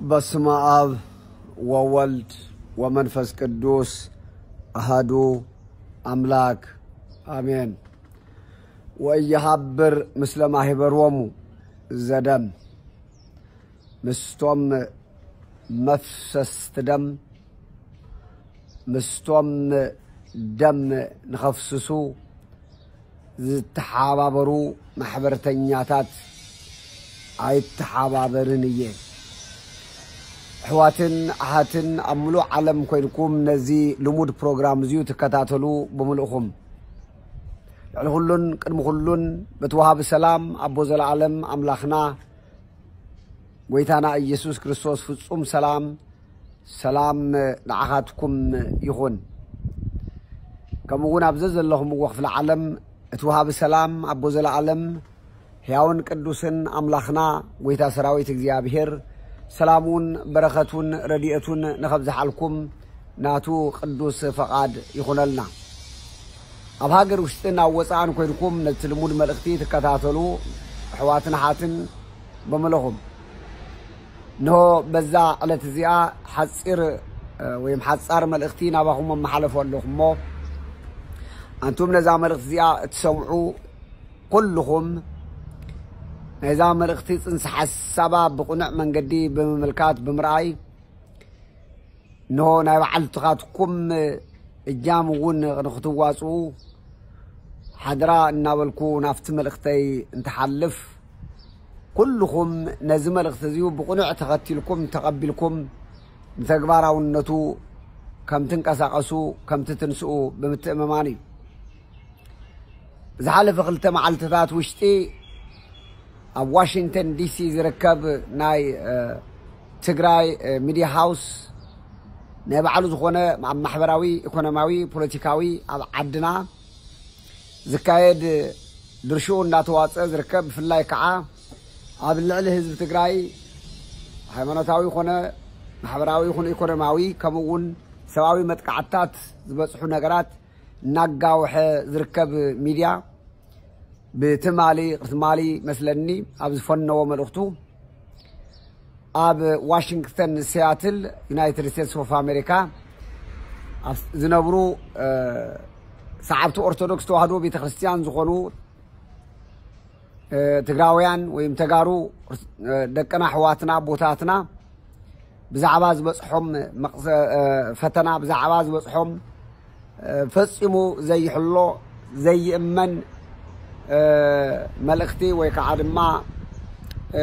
በስመ አብ ወወልድ ወመንፈስ ቅዱስ አሃዱ አምላክ አሜን። ወኢይሃብር ምስለ ማህበሮሙ ዘደም፣ ምስቶም መፍሰስቲ ደም፣ ምስቶም ደም ንኸፍስሱ ዝተሓባበሩ ማሕበርተኛታት ኣይተሓባበርን እየ። ኣሕዋትን ኣሓትን ኣብ ምሉእ ዓለም ኮይንኩም ነዚ ልሙድ ፕሮግራም እዚዩ ትከታተሉ ብምልእኹም፣ ልዕሊ ኩሉን ቅድሚ ኩሉን በቲ ወሃቢ ሰላም ኣቦ ዘለኣለም ኣምላኽና ጎይታና ኢየሱስ ክርስቶስ ፍጹም ሰላም፣ ሰላም ንዓኻትኩም ይኹን። ከምኡ እውን ኣብ ዘዘለኹምዎ ክፍለ ዓለም እቲ ወሃቢ ሰላም ኣቦ ዘለኣለም ሕያውን ቅዱስን ኣምላኽና ጎይታ ሰራዊት እግዚኣብሔር ሰላሙን በረኸቱን ረድኤቱን ንኸብዝሓልኩም ናቱ ቅዱስ ፈቓድ ይኹነልና። ኣብ ሃገር ውሽጥን ኣብ ወፃእን ኮይንኩም ነቲ ልሙድ መልእኽቲ ትከታተሉ ኣሕዋትን ኣሓትን በምለኹም፣ እንሆ በዛ ዕለት እዚኣ ሓፂር፣ እ፣ ወይም ሓፃር መልእኽቲ ናባኹም ኣመሓለፉ ኣለኹ እሞ፣ ኣንቱም ነዛ መልእኽቲ እዚኣ እትሰምዑ ኩልኹም፣ ናይዛ መልእኽቲ ፅንሰ ሓሳባ ብቕኑዕ መንገዲ ብምምልካት፣ ብምርኣይ፣ እንሆ ናይ ባዕልትኻትኩም እጃም እውን ንክትዋፅኡ ሓደራ እናበልኩ ናብቲ መልእኽተይ እንትሓልፍ፣ ኩልኹም ነዚ መልእኽቲ እዚዩ ብቕኑዕ ተኸቲልኩም፣ ተቐቢልኩም፣ ንተግባራውነቱ ከም ትንቀሳቐሱ፣ ከም ትትንስኡ ብምትእምማን እዩ። ብዝሓለፈ ክልተ መዓልትታት ውሽጢ ኣብ ዋሽንግተን ዲሲ ዝርከብ ናይ፣ እ፣ ትግራይ፣ እ፣ ሚድያ ሃውስ ናይ ባዕሉ ዝኾነ ኣብ ማሕበራዊ፣ ኢኮኖሚያዊ፣ ፖለቲካዊ ኣብ ዓድና ዝካየድ ድርሽኡ እንዳተዋፀ ዝርከብ፣ ብፍላይ ከዓ ኣብ ልዕሊ ህዝቢ ትግራይ ሃይማኖታዊ ኮነ ማሕበራዊ ይኹን ኢኮኖሚያዊ ከምኡ እውን ሰብኣዊ መጥቃዕትታት ዝበፅሑ ነገራት እናጋውሐ ዝርከብ ሚድያ ብትማሊ ቅርትማሊ መስለኒ ኣብ ዝፈነዎ መልእኽቱ ኣብ ዋሽንግተን ሲያትል ዩናይትድ ስቴትስ ኦፍ ኣሜሪካ ኣብ ዝነብሩ፣ እ፣ ሰዓብቲ ኦርቶዶክስ ተዋህዶ ቤተክርስትያን ዝኾኑ፣ እ፣ ትግራውያን ወይም ተጋሩ፣ እ፣ ደቅና ኣሕዋትና ኣቦታትና ብዛዕባ ዝበፅሖም መቕሰ-፣ እ፣ ፈተና፣ ብዛዕባ ዝበፅሖም፣ እ፣ ፈፂሙ ዘይሕሎ ዘይእመን፣ እ፣ መልእኽቲ ወይ ከዓ ድማ፣ እ፣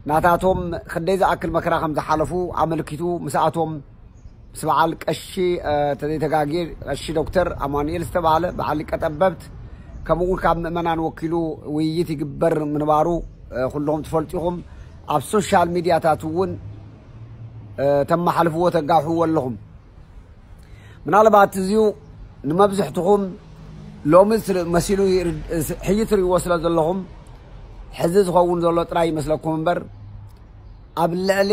ናታቶም ክንደይ ዝኣክል መከራ ከም ዝሓለፉ ኣመልኪቱ ምስኣቶም ምስ በዓል ቀሺ፣ እ፣ ተዘይተጋግየ ቀሺ ዶክተር ኣማኑኤል ዝተባህለ በዓል ሊቀ ጠበብት ከምኡ እውን ካብ ምእመናን ወኪሉ ውይይት ይግበር ምንባሩ፣ እ፣ ኩልኹም ትፈልጡ ኢኹም። ኣብ ሶሻል ሚድያታት እውን፣ እ፣ ተመሓልፍዎ ተጋውሕዎ ኣለኹም። ምናልባት እዚዩ ንመብዝሕትኹም ሎሚ ስለ-፣ መሲሉ ይርድ-፣ ሕጂ ትርእይዎ ስለ ዘለኹም ሕዚ ዝኸውን ዘሎ ጥራይ ይመስለኩም እምበር ኣብ ልዕሊ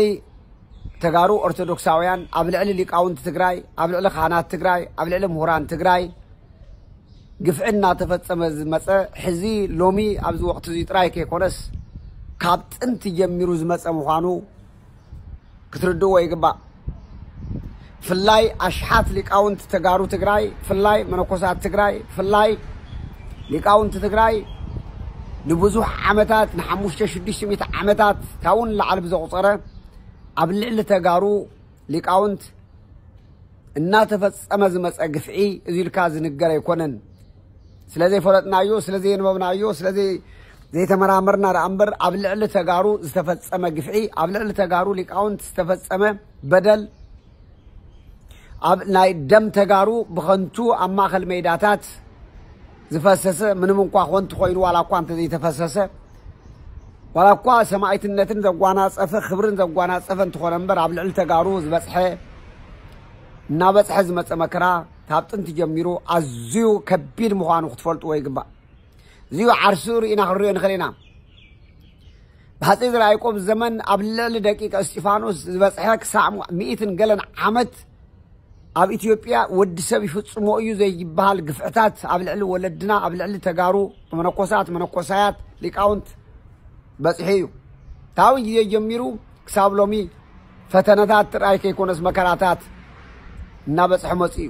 ተጋሩ ኦርቶዶክሳውያን፣ ኣብ ልዕሊ ሊቃውንቲ ትግራይ፣ ኣብ ልዕሊ ካህናት ትግራይ፣ ኣብ ልዕሊ ምሁራን ትግራይ ግፍዒ እናተፈጸመ ዝመጸ ሕዚ ሎሚ ኣብዚ ወቕቲ እዚ ጥራይ ከይኮነስ ካብ ጥንቲ ጀሚሩ ዝመጸ ምዃኑ ክትርድእዎ ይግባእ። ፍላይ ኣሽሓት ሊቃውንቲ ተጋሩ ትግራይ፣ ፍላይ መነኮሳት ትግራይ፣ ፍላይ ሊቃውንቲ ትግራይ ንብዙሕ ዓመታት፣ ንሓሙሽተ ሽዱሽተ ሚእቲ ዓመታት ካብኡ ንላዕሊ ብዘቑፀረ ኣብ ልዕሊ ተጋሩ ሊቃውንት እናተፈጸመ ዝመጸ ግፍዒ እዚ ኢልካ ዝንገር ኣይኮነን። ስለ ዘይፈለጥናዮ፣ ስለ ዘየንበብናዮ፣ ስለ ዘይ-፣ ዘይተመራመርና ደኣ እምበር ኣብ ልዕሊ ተጋሩ ዝተፈጸመ ግፍዒ፣ ኣብ ልዕሊ ተጋሩ ሊቃውንት ዝተፈጸመ በደል፣ ኣብ ናይ ደም ተጋሩ ብኸንቱ ኣብ ማእከል ሜዳታት ዝፈሰሰ፣ ምንም እንኳ ኮንቱ ኮይኑ ዋላ እኳ እንተዘይተፈሰሰ፣ ዋላ እኳ ሰማዕትነትን ዘጓናጸፈ፣ ክብርን ዘጓናጸፈ እንተኾነ እምበር፣ ኣብ ልዕሊ ተጋሩ ዝበጽሐ፣ እናበጽሐ ዝመጸ መከራ ካብ ጥንቲ ጀሚሩ ኣዝዩ ከቢድ ምዃኑ ክትፈልጥዎ ይግባእ። እዚዩ ዓርሱ ርኢና ክንሪኦ ንኽእል ኢና። ብሃፀይ ዘርኣያቆብ ዘመን ኣብ ልዕሊ ደቂቀ እስጢፋኖስ ዝበጽሐ ክሳዕ ሚእትን ገለን ዓመት ኣብ ኢትዮጵያ ወዲ ሰብ ይፍጽሞ እዩ ዘይበሃል ግፍዕታት ኣብ ልዕሊ ወለድና፣ ኣብ ልዕሊ ተጋሩ መነኮሳት፣ መነኮሳያት፣ ሊቃውንት በጽሑ እዩ። ታዊ ግዜ ጀሚሩ ክሳብ ሎሚ ፈተነታት ጥራይ ከይኮነስ መከራታት እናበፅሐ መፅኡ እዩ።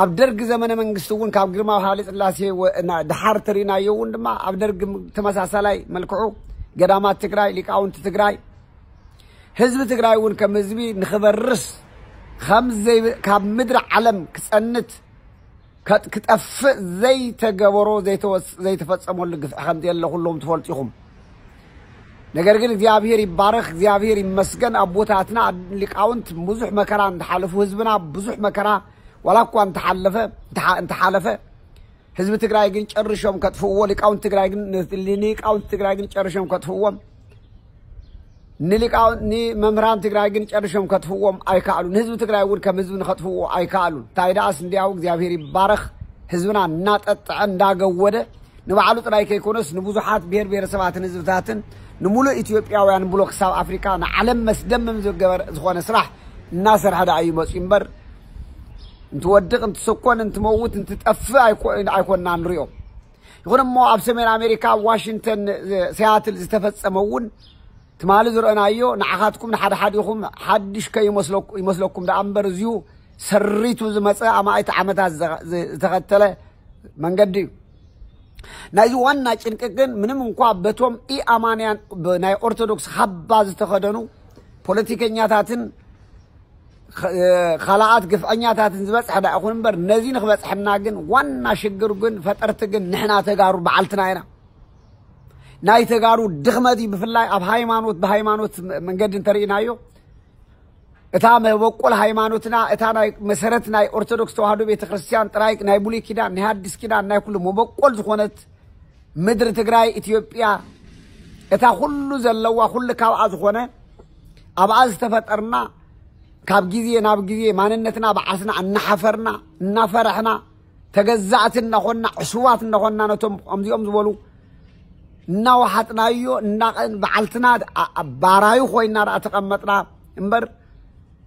ኣብ ደርግ ዘመነ መንግስቲ እውን ካብ ግርማዊ ሃይለ ስላሴ ወ- እና- ድሓር ተሪእናዮ እውን ድማ ኣብ ደርግ ተመሳሳላይ መልክዑ ገዳማት ትግራይ፣ ሊቃውንቲ ትግራይ፣ ህዝቢ ትግራይ እውን ከም ህዝቢ ንኽበርስ ከም ዘይ- ካብ ምድሪ ዓለም ክፀንት ከጥ- ክጠፍእ ዘይተገበሮ ዘይተወስ- ዘይተፈፀመሉ ግፍዒ ከም ዘየለ ኩሎም ትፈልጡ ኢኹም። ነገር ግን እግዚኣብሔር ይባረኽ፣ እግዚኣብሔር ይመስገን። ኣቦታትና ሊቃውንት ብዙሕ መከራ እንተሓለፉ፣ ህዝብና ብዙሕ መከራ ዋላ እኳ እንተሓለፈ እንተሓ- እንተሓለፈ ህዝቢ ትግራይ ግን ጨርሾም ከጥፍእዎ፣ ሊቃውንት ትግራይ ግን ንሊቃውንት ትግራይ ግን ጨርሾም ከጥፍእዎም ንሊቃውንት ንመምህራን ትግራይ ግን ጨርሾም ከጥፍዎም ኣይከኣሉ። ንህዝቢ ትግራይ እውን ከም ህዝቢ ንኸጥፍዎ ኣይከኣሉን። እንታይ ደኣስ እንዲያው እግዚኣብሔር ይባረኽ፣ ህዝብና እናጠጥዐ እንዳገወደ ንባዕሉ ጥራይ ከይኮነስ ንብዙሓት ብሔር ብሔረሰባትን ህዝብታትን ንሙሉእ ኢትዮጵያውያን ብሎ ክሳብ ኣፍሪካ ንዓለም መስደምም ዝገበር ዝኾነ ስራሕ እናሰርሐ ደኣ እዩ መፅኡ እምበር እንትወድቕ እንትስኮን እንትመውት እንትጠፍእ ኣይኮ- ኣይኮንና ንሪኦ። ይኹን እሞ ኣብ ሰሜን ኣሜሪካ ኣብ ዋሽንግተን ሲያትል ዝተፈፀመ እውን ትማሊ ዝረአናዮ ንዓኻትኩም ንሓደ ሓዲኹም ሓድሽ ከይመስለኩ- ይመስለኩም ደኣ እምበር እዚዩ ሰሪቱ ዝመፀ ኣማኢት ዓመታት ዘ- ዘ- ዝተኸተለ መንገዲ እዩ። ናይዚ ዋና ጭንቂ ግን ምንም እንኳ በቶም ኢኣማንያን ብ- ናይ ኦርቶዶክስ ካባ ዝተኸደኑ ፖለቲከኛታትን ኸ- ካልኣት ግፍዐኛታትን ዝበፅሐ ዳ ይኹን እምበር ነዚ ንክበፅሐና ግን ዋና ሽግር ግን ፈጠርቲ ግን ንሕና ተጋሩ በዓልትና ኢና። ናይ ተጋሩ ድኽመት እዩ። ብፍላይ ኣብ ሃይማኖት ብሃይማኖት መ- መንገዲ እንተርኢናዮ እታ መበቆል ሃይማኖትና እታ ናይ መሰረት ናይ ኦርቶዶክስ ተዋህዶ ቤተክርስትያን ጥራይ ናይ ብሉይ ኪዳን ናይ ሃዲስ ኪዳን ናይ ኩሉ መበቆል ዝኾነት ምድሪ ትግራይ ኢትዮጵያ እታ ኩሉ ዘለዋ ኩሉ ካብኣ ዝኾነ ኣብኣ ዝተፈጠርና ካብ ግዜ ናብ ግዜ ማንነትና ባዕስና እናሓፈርና እናፈረሕና ተገዛእቲ እናኾንና ዕሱባት እናኾንና ነቶም ከምዚኦም ዝበሉ እናወሓጥናዮ እናቐን በዓልትና ኣ- ኣ- ባራዩ ኮይና ደኣ ተቐመጥና እምበር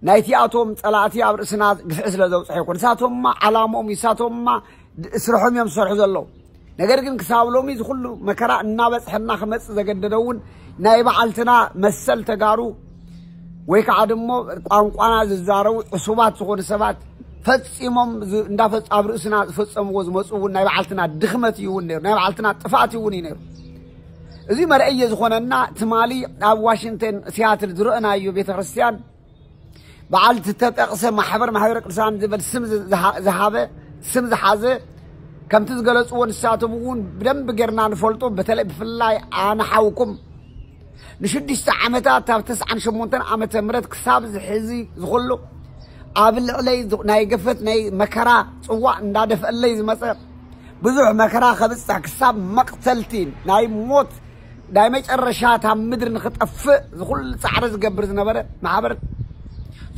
ናይቲኣቶም ፀላእቲ ኣብ ርእስና ግፍዒ ስለ ዘውፅሐ ይኮን። ንሳቶምማ ዓላምኦም እዩ፣ ንሳቶምማ ድ- ስርሖም እዮም ዝሰርሑ ዘለዉ። ነገር ግን ክሳብ ሎሚ እዚ ኩሉ መከራ እናበፅሐና ክመፅእ ዘገደደ እውን ናይ በዓልትና መሰል ተጋሩ ወይ ከዓ ድሞ ቋንቋና ዝዛረቡ ዕሱባት ዝኾኑ ሰባት ፈፂሞም ዝ- እንዳፈፅ- ኣብ ርእስና ዝፈፀምዎ ዝመፁ እውን ናይ በዓልትና ድኽመት እዩ እውን ነይሩ፣ ናይ በዓልትና ጥፍኣት እውን እዩ ነይሩ። እዚ መርአየ ዝኾነና ትማሊ ኣብ ዋሽንግተን ሲያትል ዝረአናዮ ቤተክርስትያን በዓል ዝተጠቕሰ ማሕበር ማሕበረ ቅዱሳን ዝብል ስም ዝሃ- ዝሃበ ስም ዝሓዘ ከምቲ ዝገለፅዎ ንሳቶም እውን ብደንብ ጌርና ንፈልጦ። በተለይ ብፍላይ ኣነ ሓውኩም ንሽዱሽተ ዓመታት ካብ ተስዓን ሸሞንተን ዓመተ ምህረት ክሳብ ዝሕዚ ዝኽሉ ኣብ ልዕለይ ዝ- ናይ ገፈት ናይ መከራ ፅዋእ እንዳደፍአለይ ዝመፀ ብዙሕ መከራ ከብፅሕ ክሳብ መቕተልቲ ናይ ሞት ናይ መጨረሻ እታ ምድሪ ንኽጠፍእ ዝኹሉ ፃዕሪ ዝገብር ዝነበረ ማሕበር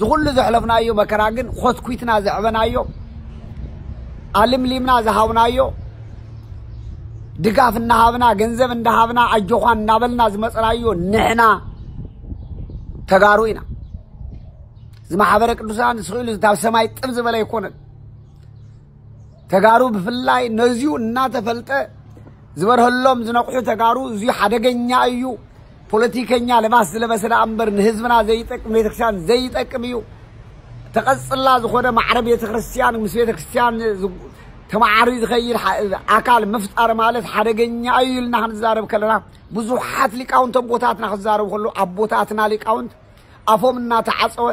ዝኹሉ ዘሕለፍናዮ መከራ ግን ኾትኩትና ዘዕበናዮ ኣልምሊምና ዝሃብናዮ ድጋፍ እናሃብና ገንዘብ እንዳሃብና ኣጆዃን እናበልና ዝመፀናዮ ንሕና ተጋሩ ኢና። እዚ ማሕበረ ቅዱሳን ስኽኢሉ ካብ ሰማይ ጥብ ዝበለ ኣይኮነን። ተጋሩ ብፍላይ ነዚዩ እናተፈልጠ ዝበርሀሎም ዝነቕሑ ተጋሩ እዚዩ ሓደገኛ እዩ። ፖለቲከኛ ልባስ ዝለበሰ ደኣ እምበር ንህዝብና ዘይጠቅም ቤተክርስትያን ዘይጠቅም እዩ። ተቐጽላ ዝኾነ ማዕረ ቤተክርስትያን ምስ ቤተክርስትያን ዝ- ተማዓሪ ዝኸይድ ሓ- ኣካል ምፍጣር ማለት ሓደገኛ እዩ ኢልና ክንዛረብ ከለና ብዙሓት ሊቃውንት ኣቦታትና ክዛረቡ ከለዉ ኣቦታትና ሊቃውንት ኣፎም እናተዓፀወ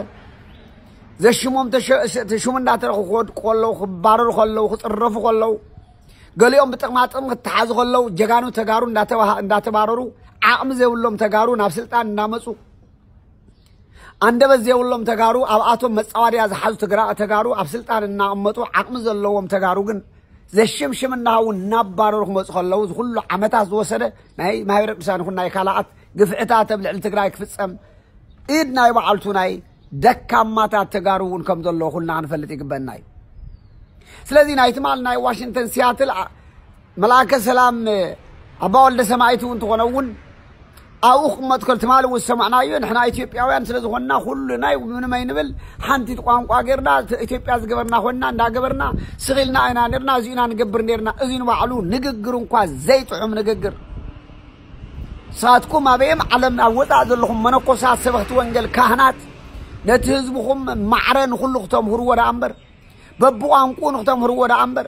ዘሽሞም ተሸ- ሸ- ሽሙ እንዳተረኹ ክወድቁ ከለዉ ክባረሩ ከለዉ ክፅረፉ ከለዉ ገሊኦም ብጥቕማ ጥቕሚ ክተሓዙ ከለዉ ጀጋኑ ተጋሩ እንዳተባሃ- እንዳተባረሩ ዓቕሚ ዘይብሎም ተጋሩ ናብ ስልጣን እናመፁ ኣንደበት ዘይብሎም ተጋሩ ኣብኣቶም መፃዋድያ ዝሓዙ ትግራ- ተጋሩ ኣብ ስልጣን እናቐመጡ ዓቕሚ ዘለዎም ተጋሩ ግን ዘሽምሽም እናሃቡ እናባረሩ ክመፁ ከለዉ ዝኩሉ ዓመታት ዝወሰደ ናይ ማህበረ ቅዱሳን ይኹን ናይ ካልኣት ግፍዕታት ኣብ ልዕሊ ትግራይ ክፍፀም ኢድ ናይ በዓልቱ ናይ ደካማታት ተጋሩ እውን ከም ዘሎ ኩልና ክንፈልጥ ይግበና እዩ። ስለዚ ናይ ትማል ናይ ዋሽንግተን ሲያትል ኣ- መልኣከ ሰላም ኣባ ወልደ ሰማይት እውን ትኾነ እውን ኣብኡ ክቕመጥ ከል ትማል እውን ዝሰማዕናዮ ንሕና ኢትዮጵያውያን ስለ ዝኾንና ኩሉ ናይ ምንም ኣይንብል ሓንቲ ቋንቋ ጌርና ት- ኢትዮጵያ ዝገበርና ኮይንና እንዳገበርና ስኺልና ኣይና ነርና እዚኡና ንገብር ነርና እዚ ንባዕሉ ንግግር እንኳ ዘይጥዑም ንግግር ንስኻትኩም ኣበየም ዓለም ኣብ ወጻእ ዘለኹም መነኮሳት፣ ሰበኽቲ ወንጌል፣ ካህናት፣ ነቲ ህዝብኹም ማዕረ ንኹሉ ክተምህርዎ ደኣ እምበር፣ በብቋንቁኡ ንክተምህርዎ ደኣ እምበር፣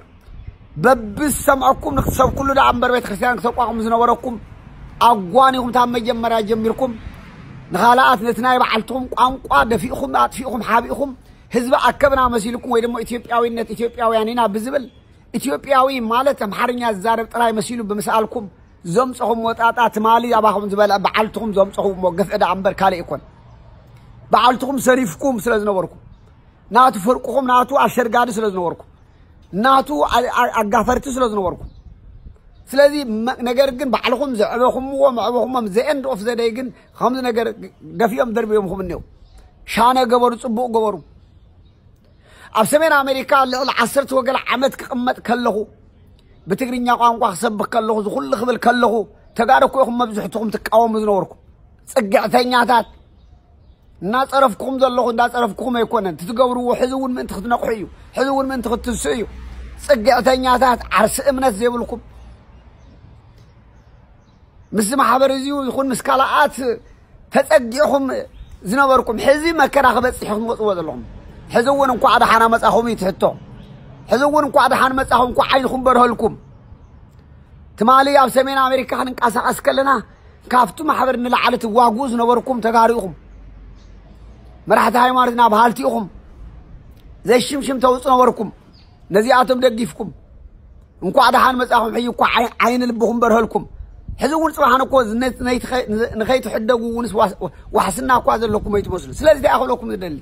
በብዝሰምዐኩም ንክትሰብኩሉ ደኣ እምበር፣ ቤተ ክርስቲያን ክተቋቁሙ ዝነበረኩም ኣጓኒኹም፣ ካብ መጀመርያ ጀሚርኩም ንኻልኣት ነቲ ናይ ባዕልትኹም ቋንቋ ደፊእኹም፣ ኣጥፊእኹም፣ ሓቢእኹም፣ ህዝቢ ኣከብና መሲልኩም፣ ወይ ድማ ኢትዮጵያዊነት፣ ኢትዮጵያውያን ኢና ብዝብል፣ ኢትዮጵያዊ ማለት ኣምሓርኛ ዝዛረብ ጥራይ መሲሉ ብምስኣልኩም ዘምጸኹም ወጣጣ፣ ትማሊ ኣባኹም ዝበልዐ በዓልትኹም ዘምጸኹሞ ግፍዒ ደኣ እምበር ካልእ ኣይኮን። በዓልትኹም ሰሪፍኩም ስለ ዝነበርኩም፣ ናቱ ፍርቅኹም፣ ናቱ ኣሸርጋዲ ስለ ዝነበርኩም፣ ናቱ ኣ-፣ ኣ-፣ ኣጋፈርቲ ስለ ዝነበርኩም። ስለዚ መ-፣ ነገር ግን ባዕልኹም ዘዕበኹምዎ፣ መዕበኹሞም፣ the end of the day ግን ከምዚ ነገር ደፊኦም ደርቢዮምኹም እኔው። ሻነ ገበሩ፣ ጽቡቕ ገበሩ። ኣብ ሰሜን ኣሜሪካ ልዕሊ ዓሰርተ ወገለ ዓመት ክቕመጥ ከለኹ፣ ብትግርኛ ቋንቋ ክሰብኽ ከለኹ፣ ዝኹሉ ክብል ከለኹ፣ ተጋሩ እኮ ኢኹም መብዝሕትኹም ትቃወሙ ዝነበርኩም። ጽግዕተኛታት፣ እናጸረፍኩኹም ዘለኹ፣ እንዳጸረፍኩኹም ኣይኮነን። እቲ ትገብርዎ ሕዚ እውን ምእንቲ ክትነቕሑ እዩ። ሕዚ እውን ምእንቲ ክትትንስኡ እዩ። ጽግዕተኛታት፣ ዓርሲ እምነት ዘይብልኩም፣ ምስ ማሕበር እዚ ይኹን ምስ ካልኣት ተጸጊዕኹም ዝነበርኩም፣ ሕዚ መከራ ክበጽሕ ኢኹም ትመጽዎ ዘለኹም። ሕዚ እውን እንኳዕ ደሓና መጻኹም እዩ እቲ ሕቶ። ሕዚ እውን እንኳዕ ደሓን መጻኹም፣ እንኳዕ ዓይንኹም በርሀልኩም። ትማሊ ኣብ ሰሜን ኣሜሪካ ክንንቀሳቐስ ከለና፣ ካብቲ ማሕበር ንላዕሊ ትዋግኡ ዝነበርኩም ተጋሩ ኢኹም። መራሕቲ ሃይማኖትና በሃልቲ ኢኹም። ዘይሽምሽም ተውጹ ነበርኩም። ነዚኣቶም ደጊፍኩም፣ እንኳዕ ደሓን መጻኹም፣ ሕጂ እኳ ዓይ-፣ ዓይኒ ልብኹም በርሀልኩም። ሕዚ እውን ጽባሕ ንኮ ነ-፣ ነይትኸ-፣ ንኸይትሕደጉ እውንስ ዋስ-፣ ዋሕስና እኳ ዘለኩም ኣይትመስሉ። ስለዚ እንታይ ክብለኩም ዝደሊ፣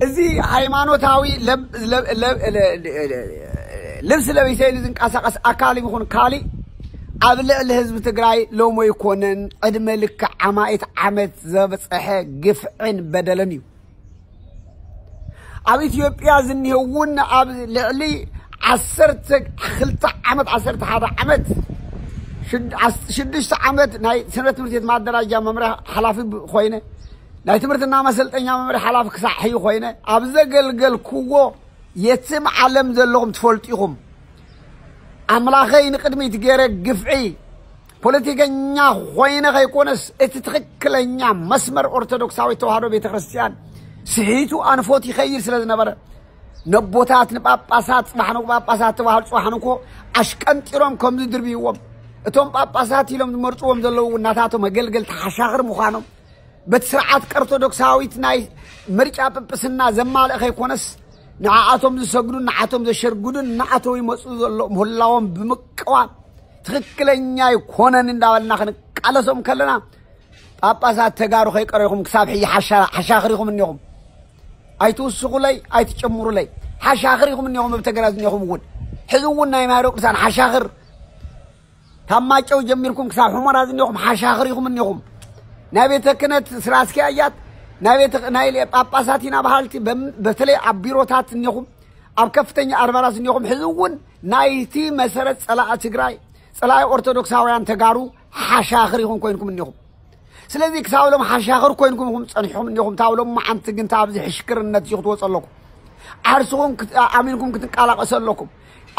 እዚ ሃይማኖታዊ ለብ-፣ ለብ-፣ ለብ-፣ ለ-፣ ለ-፣ ልብሲ ለቢሰ ኢሉ ዝንቀሳቐስ ኣካል ይኹን ካሊእ፣ ኣብ ልዕሊ ህዝቢ ትግራይ ሎሚ ኣይኮነን፣ ዕድመ ልክዕ ኣማኢት ዓመት ዘብፀሐ ግፍዕን በደልን እዩ። ኣብ ኢትዮጵያ ዝኒሀ እውን ኣብ ልዕሊ ዓሰርተ ክልተ ዓመት፣ ዓሰርተ ሓደ ዓመት፣ ሽድ-፣ ዓስ-፣ ሽዱሽተ ዓመት ናይ ሰንበት ትምህርት ቤት ማደራጃ መምርሒ ሓላፊ ብ-፣ ኮይነ፣ ናይ ትምህርትና መሰልጠኛ መምርሒ ሓላፊ ክሳዕ ሕዩ ኮይነ፣ ኣብ ዘገልገልክዎ የትም ዓለም ዘለኹም ትፈልጡ ኢኹም። ኣምላኸይ ንቅድሚት ገይረ ግፍዒ ፖለቲከኛ ኮይነ ከይኮነስ፣ እቲ ትኽክለኛ መስመር ኦርቶዶክሳዊት ተዋህዶ ቤተ ክርስቲያን ስሒቱ ኣንፎት ይኸይድ ስለ ዝነበረ፣ ነቦታት፣ ንጳጳሳት፣ ጽባሕ ንግሆ ጳጳሳት ተባህሉ፣ ጽባሕ ንግሆ ኣሽቀንጢሮም ከም ዝድርብይዎም፣ እቶም ጳጳሳት ኢሎም ዝመርጽዎም ዘለዉ እውን ናታቶም መገልገልቲ ሓሻኽር ምዃኖም፣ በቲ ስርዓት ኦርቶዶክሳዊት ናይ ምርጫ ጵጵስና ዘማልእ ከይኮነስ፣ ንዓኣቶም ዝሰግዱን ንዓቶም ዘሸርግዱን እናኣተው ይመፁ ዘሎ ምህላዎም ብምቅዋም፣ ትኽክለኛ ኣይኮነን እንዳበልና ክንቃለሶም ከለና፣ ጳጳሳት ተጋሩ ከይቀረኹም ክሳብ ሕጂ ሓሻ-፣ ሓሻኽር ኢኹም እኒኹም። ኣይትውስኹለይ፣ ኣይትጨምሩለይ። ሓሻኽር ኢኹም እኒኹም፣ ኣብ ተገራ ዝኒኹም እውን። ሕዚ እውን ናይ ማሕበረ ቅዱሳን ሓሻኽር፣ ካብ ማጨው ጀሚርኩም ክሳብ ሑመራ ዝኒኹም ሓሻኽር ኢኹም እኒኹም። ናይ ቤተ ክህነት ስራ ኣስኪያጃት፣ ናይ ቤተ፣ ናይ ጳጳሳት ኢና በሃልቲ፣ በም-፣ በተለይ ኣብ ቢሮታት እኒኹም፣ ኣብ ከፍተኛ ኣድባራት እኒኹም፣ ሕዚ እውን ናይቲ መሰረት ጸላኢ ትግራይ፣ ጸላኢ ኦርቶዶክሳውያን ተጋሩ ሓሻኽር ኢኹም ኮይንኩም እኒኹም። ስለዚ ክሳብ ሎም ሓሻኽር ኮይንኩም ኢኹም ጸኒሕኩም እኒኹም። ታብ ሎም መዓንቲ ግን ታብዚ ሕሽክርነት እዩ ክትወፁ ኣለኩም። ዓርስኹም ክት-፣ ኣሚንኩም ክትንቀላቐሱ ኣለኩም።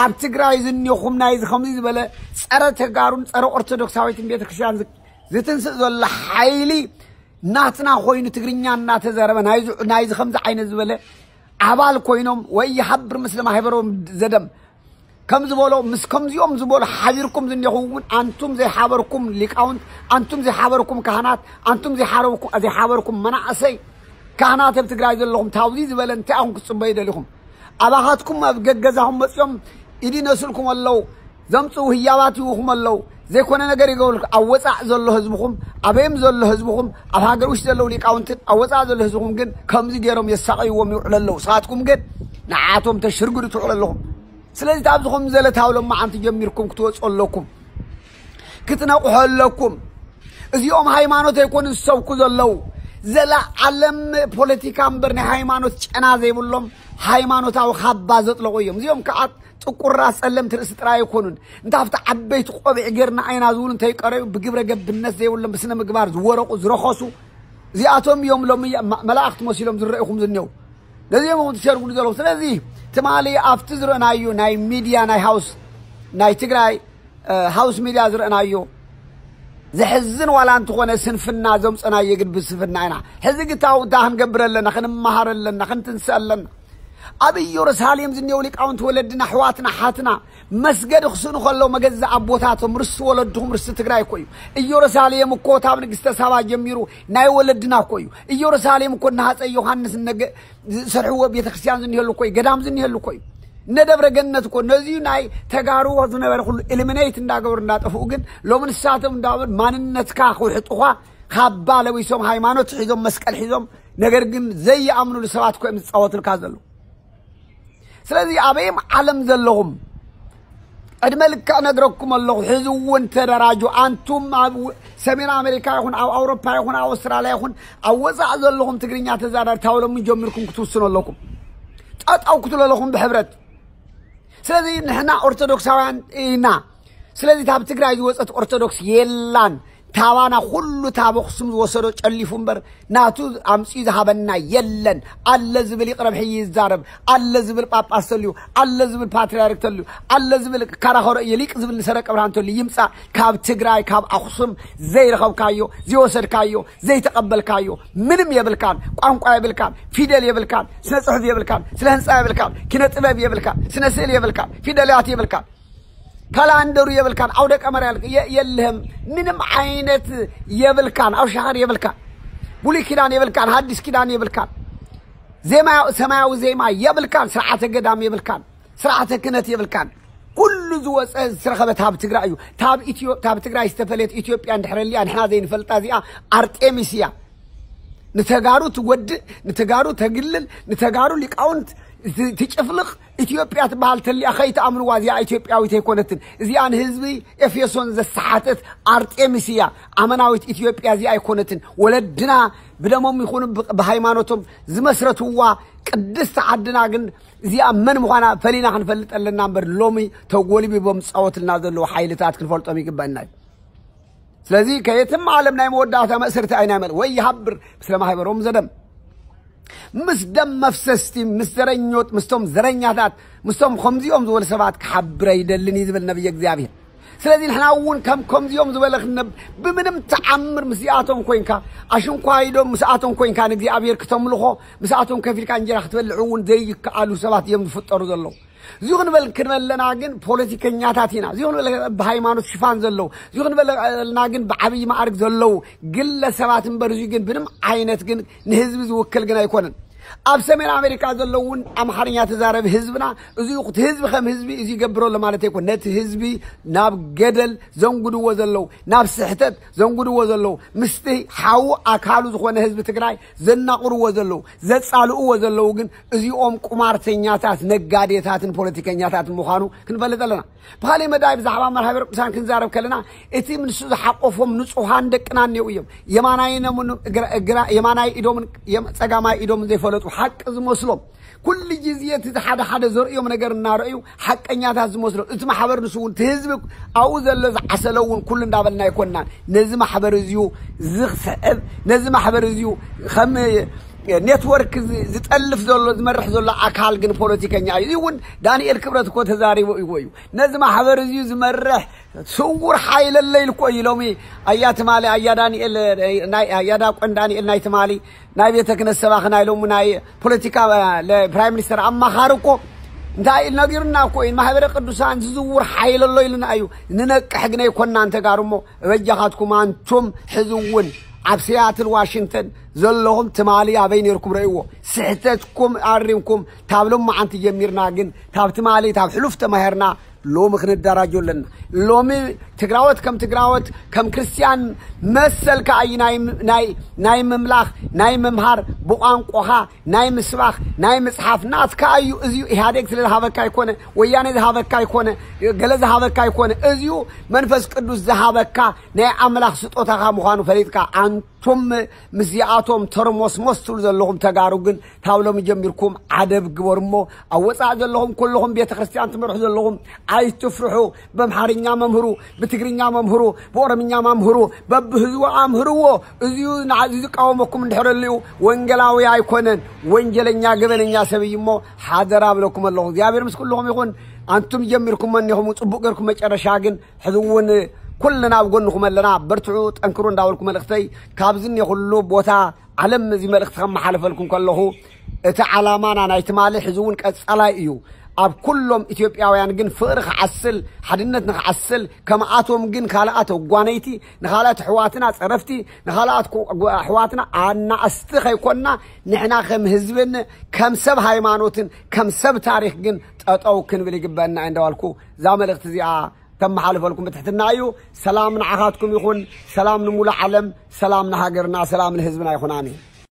ኣብ ትግራይ ዝኒኹም ናይዚ ከምዚ ዝበለ ጸረ ተጋሩን ጸረ ኦርቶዶክሳዊትን ቤተክርስትያን ዝ-፣ ዝትንስእ ዘሎ ሓይሊ ናትና ኮይኑ ትግርኛ እናተዛረበ ናይዚ፣ ናይዚ ከምዚ ዓይነት ዝበለ ኣባል ኮይኖም ወይ ይሓብር ምስለ ማሕበሮም ዘደም ከም ዝበሎ፣ ምስ ከምዚኦም ዝበሉ ሓቢርኩም ዝኒኹም እውን፣ ኣንቱም ዘይሓበርኩም ሊቃውንት፣ ኣንቱም ዘይሓበርኩም ካህናት፣ ኣንቱም ዘይሓረብኩ-፣ ዘይሓበርኩም መናእሰይ ካህናት ኣብ ትግራይ ዘለኹም፣ ታውዚ ዝበለ እንታይ ኢኹም ክትጽበዩ ደሊኹም? ኣባኻትኩም ኣብ ገገዛኹም መጺኦም ኢድ ይነስልኩም ኣለዉ፣ ዘምጽኡ ህያባት ይህቡኹም ኣለዉ። ዘይኮነ ነገር ይገብሩልኩም። ኣብ ወጻእ ዘሎ ህዝብኹም፣ ኣበይም ዘሎ ህዝብኹም፣ ኣብ ሃገር ውሽጢ ዘለዉ ሊቃውንትን ኣብ ወጻእ ዘሎ ህዝብኹም ግን ከምዚ ገይሮም የሳቐይዎም ይውዕሉ ኣለዉ። ንስኻትኩም ግን ንዓቶም ተሽርግዱ ትውዕሉ ኣለኹም። ስለዚ፣ ካብዚ ከም ዘለ ታብ ሎማዓንቲ ጀሚርኩም ክትወፁ ኣለኩም። ክትነቕሑ ኣለኩም። እዚኦም ሃይማኖት ኣይኮኑን ዝሰብኩ ዘለዉ። ዘለዓለም ፖለቲካ እምበር ናይ ሃይማኖት ጨና ዘይብሎም፣ ሃይማኖታዊ ካባ ዘጥለቑ እዮም። እዚኦም ከዓ ጥቁራ ጸለምቲ ርእሲ ጥራይ ኣይኮኑን። እንተ ኣብቲ ዓበይቲ ቆቢዕ ጌርና ኣይና ዝብሉ እንተይቀረዩ፣ ብግብረ ገብነት ዘይብሎም፣ ብስነ ምግባር ዝወረቑ፣ ዝረኸሱ፣ እዚኣቶም እዮም ሎሚ መ-፣ መላእኽቲ መሲሎም ዝረእኹም ዝኔው። ነዚኦም እውን ትሸርጉዱ ዘለኹም። ስለዚ ትማሊ ኣብቲ ዝረእናዮ ናይ ሚድያ ናይ ሃውስ፣ ናይ ትግራይ፣ እ፣ ሃውስ ሚድያ ዝረእናዮ፣ ዘሕዝን ዋላ እንተኾነ ስንፍና ዘምፀናዮ ግን ብስንፍና ኢና። ሕዚ ግታው እንታይ ክንገብር ኣለና? ክንመሃር ኣለና፣ ክንትንስእ ኣለና። ኣብ ኢየሩሳሌም ዝኔው ሊቃውንቲ ወለድና፣ ኣሕዋትና፣ ሓትና መስገዲ ክስእኑ ከለዉ መገዛ ኣቦታቶም፣ ርስቲ ወለድኹም፣ ርስቲ ትግራይ እኮ እዩ። ኢየሩሳሌም እኮ ካብ ንግስተ ሳባ ጀሚሩ ናይ ወለድና እኮ እዩ። ኢየሩሳሌም እኮ እናሃፀ ዮሃንስ እነገ ዝሰርሕዎ ቤተክርስትያን ዝኒሀሉ እኮ እዩ፣ ገዳም ዝኒሀሉ እኮ እዩ። እነ ደብረ ገነት እኮ ነዚዩ ናይ ተጋሩ ዝነበረ ኩሉ ኤሊሚኔት እንዳገበሩ እንዳጠፍኡ፣ ግን ሎሚ ንሳቶም እንዳበሉ ማንነትካ ክውሕጡኻ ካባ ለቢሶም፣ ሃይማኖት ሒዞም፣ መስቀል ሒዞም፣ ነገር ግን ዘይኣምኑሉ ሰባት እኮ እዮም ዝፃወቱልካ ዘለዉ። ስለዚ ኣበይም ዓለም ዘለኹም፣ ዕድመ ልክዕ ነግረኩም ኣለኹ። ሕዚ እውን ተደራጁ። ኣንቱም ኣብ ሰሜን ኣሜሪካ ይኹን፣ ኣብ ኣውሮፓ ይኹን፣ ኣብ ኣውስትራልያ ይኹን፣ ኣብ ወፃእ ዘለኹም ትግርኛ ተዛራቢ፣ ታብ ሎሚ ጀሚርኩም ክትውስኑ ኣለኩም። ጠጠው ክትሉ ኣለኹም ብሕብረት። ስለዚ ንሕና ኦርቶዶክሳውያን ኢና። ስለዚ ታብ ትግራይ ዝወፀት ኦርቶዶክስ የላን። ታባና ኩሉ ታብ ኣኽሱም ዝወሰዶ ጨሊፉ እምበር ናቱ ኣምፅኡ ዝሃበና የለን። ኣለ ዝብል ይቕረብ ሕይ ይዛረብ፣ ኣለ ዝብል ጳጳስ ተልዩ፣ ኣለ ዝብል ፓትርያርክ ተልዩ፣ ኣለ ዝብል ካራኸሮ እየ ሊቅ ዝብል ንሰረቀ ብርሃን ተልዩ ይምፃእ። ካብ ትግራይ ካብ ኣኽሱም ዘይረኸብካዮ፣ ዘይወሰድካዮ፣ ዘይተቐበልካዮ ምንም የብልካን። ቋንቋ የብልካን፣ ፊደል የብልካን፣ ስነ ፅሑፍ የብልካን፣ ስነ ህንፃ የብልካን፣ ኪነ ጥበብ የብልካን፣ ስነ ስእል የብልካን፣ ፊደላት የብልካን፣ ካላንደሩ የብልካን፣ ኣውደ ቀመር ያልክ የ- የለህም። ምንም ዓይነት የብልካን። ኣብ ሻኸር የብልካን፣ ብሉይ ኪዳን የብልካን፣ ሃዲስ ኪዳን የብልካን፣ ዜማ ሰማያዊ ዜማ የብልካን፣ ስርዓተ ገዳም የብልካን፣ ስርዓተ ክህነት የብልካን። ኩሉ ዝወፀ ዝተረኸበ ታብ ትግራይ እዩ። ታብ ኢትዮ ታብ ትግራይ ዝተፈለየት ኢትዮጵያ እንድሕረልያ ንሕና ዘይንፈልጣ እዚኣ ኣርጤሚስ እያ። ንተጋሩ ትጎድእ፣ ንተጋሩ ተግልል፣ ንተጋሩ ሊቃውንት ት- ትጭፍልቕ ኢትዮጵያ ትበሃል ተሊኣ ከይትኣምንዋ። እዚኣ ኢትዮጵያዊት ኣይኮነትን። እዚኣ ንህዝቢ ኤፌሶን ዘሰሓተት ኣርጤሚስ እያ። ኣመናዊት ኢትዮጵያ እዚኣ ኣይኮነትን። ወለድና ብደሞም ይኹኑ ብ- ብሃይማኖቶም ዝመስረትዋ ቅድስቲ ዓድና ግን እዚኣ መን ምዃና ፈሊና ክንፈልጥ ኣለና እምበር ሎሚ ተጎልቢቦም ዝፃወትልና ዘለዉ ሓይልታት ክንፈልጦም ይግበአና እዩ። ስለዚ ከየትም ዓለም ናይ መወዳእታ መእሰርቲ ኣይናይ መል ወይ ይሃብር ምስለ ማህበሮም ዘደም ምስ ደም መፍሰስቲ ምስ ዘረኞት ምስቶም ዘረኛታት ምስቶም ከምዚኦም ዝበሉ ሰባት ክሓብር ኣይደልን እዩ ዝብል ነብየ እግዚኣብሔር። ስለዚ ንሕና እውን ከም ከምዚኦም ዝበለ ክንነብ ብምንም ተዓምር ምስዚኣቶም ኮይንካ ኣሽንኳይዶም ምስኣቶም ኮይንካ ንእግዚኣብሔር ክተምልኾ ምስኣቶም ከፊልካ እንጀራ ክትበልዕ እውን ዘይከኣሉ ሰባት እዮም ዝፍጠሩ ዘለዉ። እዚ ክንበል ክንበለና ግን ፖለቲከኛታት ኢና። እዚ ክንበል ብሃይማኖት ሽፋን ዘለዉ፣ እዚ ክንበለና ግን ብዓብዪ ማዕርግ ዘለዉ ግለሰባት እምበር እዚ ግን ብንም ዓይነት ግን ንህዝቢ ዝውክል ግን ኣይኮነን። ኣብ ሰሜን ኣሜሪካ ዘለዉ እውን ኣምሓርኛ ተዛረቢ ህዝብና እዚ እቲ ህዝቢ ከም ህዝቢ እዚ ይገብሮ ኣሎ ማለት ኣይኮን። ነቲ ህዝቢ ናብ ገደል ዘንጉድዎ ዘለዉ፣ ናብ ስሕተት ዘንጉድዎ ዘለዉ፣ ምስቲ ሓዉ ኣካሉ ዝኾነ ህዝቢ ትግራይ ዘናቑርዎ ዘለዉ፣ ዘጻልእዎ ዘለዉ ግን እዚኦም ቁማርተኛታት፣ ነጋዴታትን ፖለቲከኛታትን ምዃኑ ክንፈልጥ ኣለና። ብኻሊእ መዳይ ብዛዕባ መርሃ ቤረ ቅዱሳን ክንዛረብ ከለና እቲ ንሱ ዝሓቆፎም ንጹሃን ደቅና እኒው እዮም። የማናይ ነሙን ግራ- ግራ- የማናይ ኢዶምን የም- ጸጋማይ ኢዶምን ዘይፈለጡ ሓቂ ዝመስሎም ኩሉ ግዜ እቲ ሓደ ሓደ ዘርእዮም ነገር እናረእዩ ሓቀኛታት ዝመስሎም እቲ ማሕበር ንሱ እውን እቲ ህዝቢ ኣብኡ ዘሎ ዝዓሰለ እውን ኩሉ እንዳበልና ኣይኮንናን። ነዚ ማሕበር እዚዩ ዝስዕብ ነዚ ማሕበር እዚዩ ከም ኔትወርክ ዝ- ዝጠልፍ ዘሎ ዝመርሕ ዘሎ ኣካል ግን ፖለቲከኛ እዩ። እዚ እውን ዳንኤል ክብረት እኮ ተዛሪቦ ይዎ እዩ። ነዚ ማሕበር እዚዩ ዝመርሕ ስውር ሓይል ኣለ ኢሉ እኮ እዩ። ሎሚ ኣያ ትማሊ ኣያ ዳንኤል ናይ ኣያ ዳቆን ዳንኤል ናይ ትማሊ ናይ ቤተ ክህነት ሰባኺ ናይ ሎሚ ናይ ፖለቲካ ፕራይም ሚኒስተር ኣማኻሪ እኮ እንታይ ኢሉ ነጊሩና እኮ እዩ። ማሕበረ ቅዱሳን ዝዝውር ሓይል ኣሎ ኢሉና እዩ። ንነቅሕ ግን ኣይኮንናን ተጋሩ እሞ በጃኻትኩም ኣንቱም ሕዚ እውን ኣብ ሲያትል ዋሽንግተን ዘለኹም ትማሊ ኣበይ ነይርኩም ረእይዎ። ስሕተትኩም ኣሪምኩም ታብ ሎማዓንቲ ጀሚርና ግን ታብ ትማሊ ታብ ሕሉፍ ተማሂርና ሎሚ ክንደራጆ ኣለና። ሎሚ ትግራወት ከም ትግራወት ከም ክርስትያን መሰልካ እዩ ናይ ናይ ናይ ምምላኽ ናይ ምምሃር ብቋንቋኻ ናይ ምስባኽ ናይ ምጽሓፍ ናትካ እዩ። እዚዩ ኢህኣዴግ ስለ ዝሃበካ ኣይኮነ፣ ወያኔ ዝሃበካ ኣይኮነ፣ ገለ ዝሃበካ ኣይኮነ። እዚዩ መንፈስ ቅዱስ ዝሃበካ ናይ ኣምላኽ ስጦታኻ ምዃኑ ፈሊጥካ ኣንቱም ምስዚኣቶም ተርሞስሞስ ትብሉ ዘለኹም ተጋሩ ግን ካብ ሎሚ ጀሚርኩም ዓደብ ግበሩ እሞ ኣብ ወፃእ ዘለኹም ኩልኹም ቤተ ክርስቲያን ትመርሑ ዘለኹም ኣይትፍርሑ። በምሓርኛ መምህሩ፣ ብትግርኛ መምህሩ፣ ብኦሮምኛ መምህሩ፣ በብህዝቡ ኣምህርዎ። እዚዩ ንዓዚ ዝቃወመኩም እንድሕር ኣልዩ ወንጌላዊ ኣይኮነን፣ ወንጀለኛ ገበነኛ ሰብ እዩ እሞ ሓደራ ብለኩም ኣለኹ። እግዚኣብሔር ምስ ኩልኹም ይኹን። ኣንቱም ጀሚርኩም መኒኹም ጽቡቅ ገርኩም መጨረሻ ግን ሕዚ እውን ኩልና ኣብ ጎንኹም ኣለና። በርትዑ፣ ጠንክሩ እንዳበልኩ፣ መልእኽተይ ካብዚ እኒኦ ኩሉ ቦታ ዓለም እዚ መልእኽቲ ከመሓልፈልኩም ከለኹ፣ እቲ ዓላማና ናይ ትማሊ ሕዚ እውን ቀጻላይ እዩ። ኣብ ኩሎም ኢትዮጵያውያን ግን ፍቕሪ ክዓስል፣ ሓድነት ንክዓስል፣ ከምኣቶም ግን ካልኣት ኣጓነይቲ፣ ንኻልኣት ኣሕዋትና ጸረፍቲ፣ ንኻልኣት ኣሕዋትና ኣናእስቲ ከይኮንና፣ ንሕና ከም ህዝብን ከም ሰብ ሃይማኖትን ከም ሰብ ታሪኽ ግን ጠጠው ክንብል ይግበአና እንዳበልኩ፣ እዛ መልእኽቲ እዚኣ ተመሓልፈልኩም ብትሕትና እዩ። ሰላም ንዓኻትኩም ይኹን። ሰላም ንሙሉእ ዓለም። ሰላም ንሃገርና፣ ሰላም ንህዝብና ይኹን። ኣሜን።